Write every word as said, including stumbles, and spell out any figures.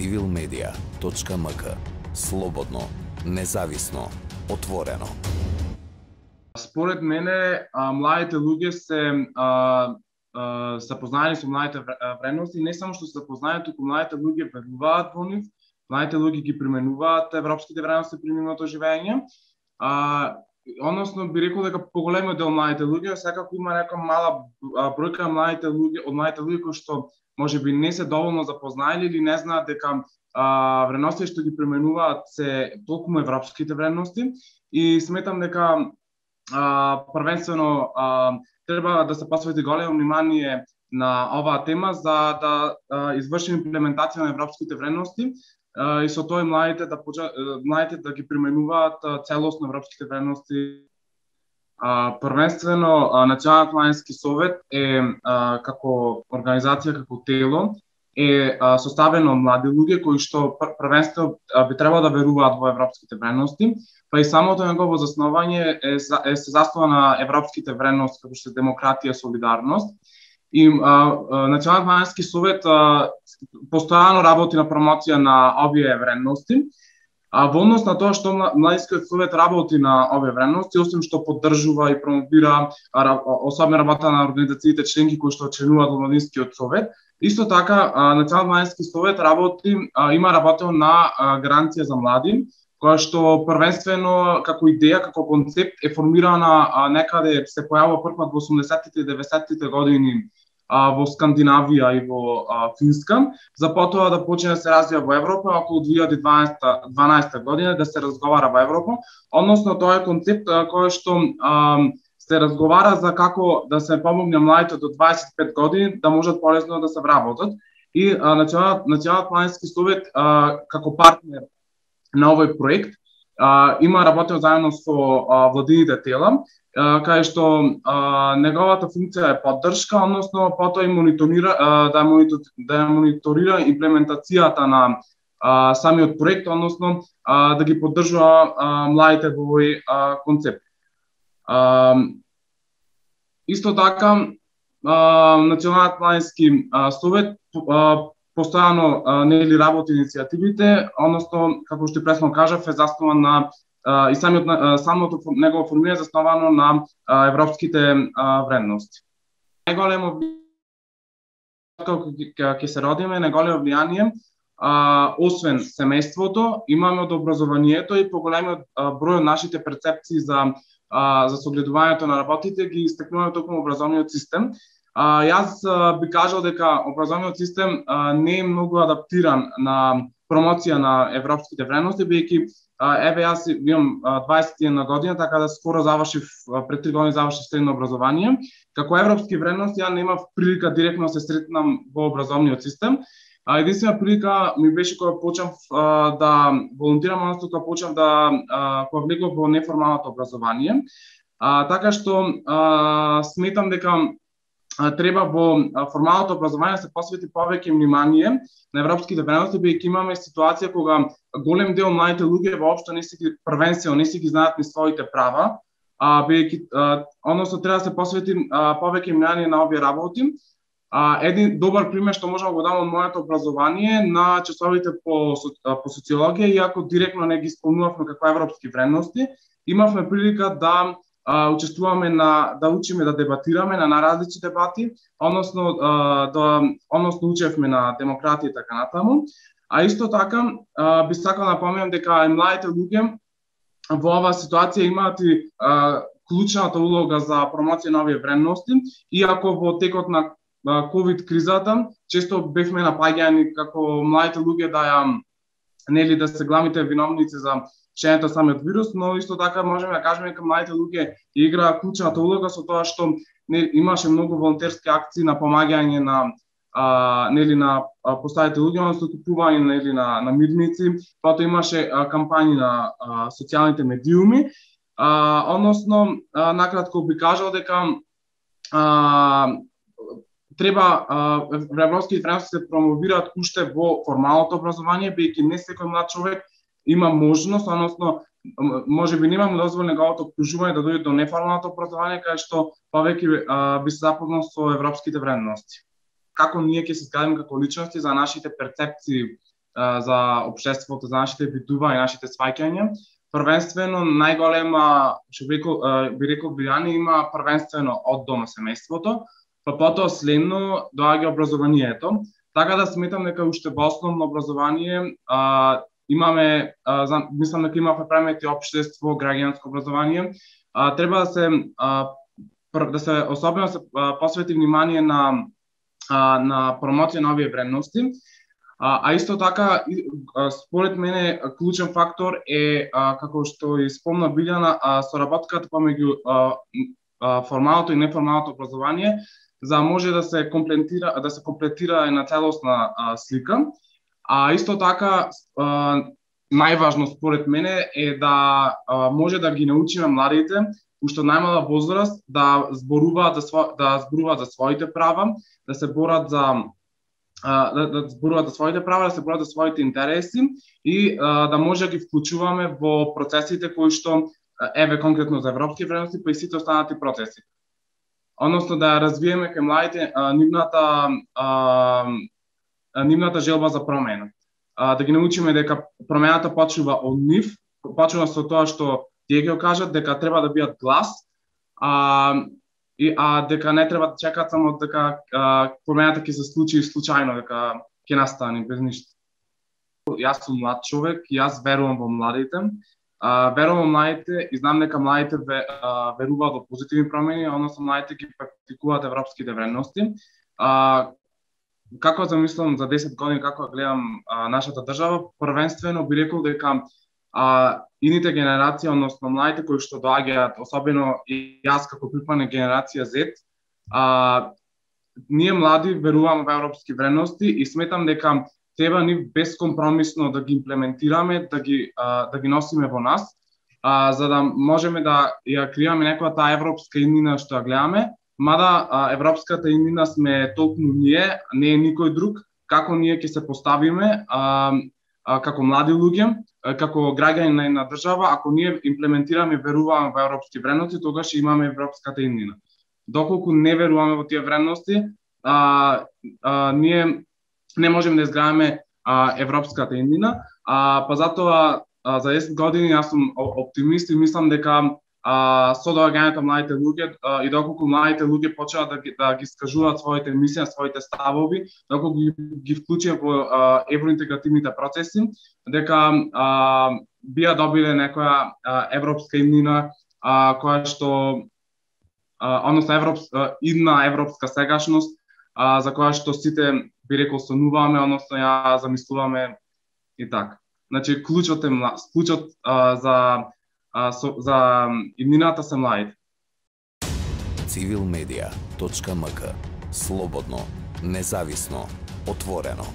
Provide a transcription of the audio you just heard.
цивил медија точка ем ка. Слободно, независно, отворено. Според мене, а, младите луѓе се а, а, се познаени со младите вредности, не само што се познаени, туку младите луѓе веруваат во нив, младите луѓе ги применуваат европските вредности при нивното живење. А, односно би рекол дека поголемиот дел младите луѓе секако има нека мала бројка младите луѓе од младите луѓе кои што можеби не се доволно запознаени или не знаат дека а, вредности што ги применуваат се толку европските вредности, и сметам дека а, првенствено а, треба да се посвети големо внимание на оваа тема за да а, изврши имплементација на европските вредности, и со тоа и младите да почнат младите да ги применуваат целосно европските вредности. А, првенствено Националниот младински совет е а, како организација, како тело е а, составено од млади луѓе кои што првенствено би требало да веруваат во европските вредности, па и самото негово заснованје е, е се заснова на европските вредности како што е демократија, солидарност. И а, а, Националниот младински совет а, постојано работи на промоција на овие вредности. А во однос на тоа што Младинскиот совет работи на овие вредности, освен што поддржува и промовира особено работа на организациите членки кои што членуваат во Младинскиот совет, исто така Националниот младински совет работи, а, има работел на а, гаранција за млади, која што првенствено како идеја, како концепт е формирана а, некаде се појавува првпат во осумдесеттите и деветдесеттите години а, во Скандинавија и во а, Финска, за потоа да почне да се развива во Европа, околу две илјади и дванаесета година да се разговара во Европа, односно тоа е концепт а, кој што а, се разговара за како да се помогне младите до дваесет и пет години да можат полесно да се вработат, и Националниот Националниот младински совет а, како партнер на овој проект а, има работел заедно со а, владините тела, а, кај што а, неговата функција е поддршка, односно потоа и мониторира а, да монитор, да мониторира имплементацијата на а, самиот проект, односно а, да ги поддржува а, младите во овој а, концепт. А, исто така а, Националниот младински а, совет а, постојано нели работи иницијативите, односно како што пресно кажав е заснован на а, и самиот а, самото негово формирање е засновано на а, европските а, вредности. Најголемо како ќе се родиме, најголемо влијание а, освен семејството, имаме од образованието и поголемиот број од нашите перцепции за а, за согледувањето на работите ги истекнуваме токму образовниот систем. А, јас а, би кажал дека образовниот систем а, не е многу адаптиран на промоција на европските вредности, бидејќи еве јас имам дваесет и една година, така да скоро завршив, пред три години завршив средно образование. Како европски вредности ја немав прилика директно да се сретнам во образовниот систем. А, единствена прилика ми беше кога почнав а, да волонтирам, односно кога почнав да а, кога влегов во неформалното образование. А, така што а, сметам дека треба во формалното образование да се посвети повеќе внимание на европските вредности, бидејќи имаме ситуација кога голем дел младите луѓе воопшто не си ги првенствено не си ги знаат ни своите права, а бидејќи односно треба да се посвети а, повеќе внимание на овие работи. А, еден добар пример што можам да го дам од моето образование на часовите по по социологија, иако директно не ги спомнувавме како европски вредности, имавме прилика да Uh, учествуваме на да учиме да дебатираме на наразлични дебати, односно uh, да односно учевме на демократија и така натаму. А исто така uh, би сакал да напоменам дека и младите луѓе во оваа ситуација имаат и uh, клучната улога за промоција на овие вредности, иако во текот на uh, ковид кризата често бевме напаѓани како младите луѓе да ја нели да се главните виновници за шењето самиот вирус, но исто така можеме да кажеме дека младите луѓе играа клучната улога со тоа што не, имаше многу волонтерски акции на помагање на а, нели на поставите луѓе, односно купување нели на на мирници, потоа имаше а, кампањи на а, социјалните медиуми, а, односно а, накратко би кажал дека а, треба европските вредности се промовираат уште во формалното образование, бидејќи не секој млад човек има можност, односно можеби немаме дозволено неговото обкружување да дојде до неформалното образование, кај што повеќе би се запознал со европските вредности. Како ние ќе се зградиме како личности за нашите перцепции а, за општеството, за нашите видува и нашите сваќања. Првенствено најголема, што би рекол, би рекол влијание има првенствено од дома семејството, па потоа следно доаѓа образованието. Така да сметам дека уште во основно образование а, имаме, а, за, мислам дека имаме премети општество, граѓанско образование. А, треба да се а, да се особено се а, посвети внимание на а, на промоција на овие вредности. А, а исто така, според мене, клучен фактор е, а, како што и спомна Билјана, а, соработката помеѓу а, а, формалното и неформалното образование, за да може да се комплетира, да се комплетира една целосна а, слика. А исто така, а, најважно според мене е да а, може да ги научиме младите уште најмала возраст да зборуваат за сво, да зборуваат за своите права, да се борат за да, да зборуваат за своите права, да се борат за своите интереси и а, да може да ги вклучуваме во процесите кои што еве конкретно за европски вредности, па и сите останати процеси. Односно да развиеме кај младите а, нивната а, нивната желба за промена. А, да ги научиме дека промената почнува од нив, почнува со тоа што тие ги кажат дека треба да бидат глас, а, и, а дека не треба да чекат само дека а, промената ќе се случи случајно, дека ќе настане без ништо. Јас сум млад човек и јас верувам во младите. А, верувам во младите и знам дека младите ве, а, веруваат во позитивни промени, односно младите ги практикуваат европските вредности. А, како замислам за десет години, како гледам а, нашата држава, првенствено би рекол дека а, ините генерации, односно младите кои што доаѓаат, особено и јас како припадник генерација Z, а, ние млади веруваме во европски вредности и сметам дека треба ни безкомпромисно да ги имплементираме, да ги а, да ги носиме во нас, а, за да можеме да ја креираме некоја таа европска иднина што ја гледаме, мада а, европската иднина сме толку ние, не е никој друг, како ние ќе се поставиме а, а, како млади луѓе, како граѓани на една држава, ако ние имплементираме и веруваме во европски вредности, тогаш имаме европската иднина. Доколку не веруваме во тие вредности, а, а, ние не можеме да изградиме а, европската иднина, а, па затоа а, за десет години јас сум оптимист и мислам дека а, со доаѓањето младите луѓе а, и доколку младите луѓе почнат да ги, да ги скажуваат своите мислења, своите ставови, доколку ги, ги вклучат во а, евроинтегративните процеси, дека а, бија добиле некоја а, европска иднина а, која што а, односно европска идна европска сегашност а, за која што сите би рекол сонуваме, односно ја замислуваме и така. Значи клучот е клучот а, за а, со, за иднината се младите. civilmedia точка m k Слободно, независно, отворено.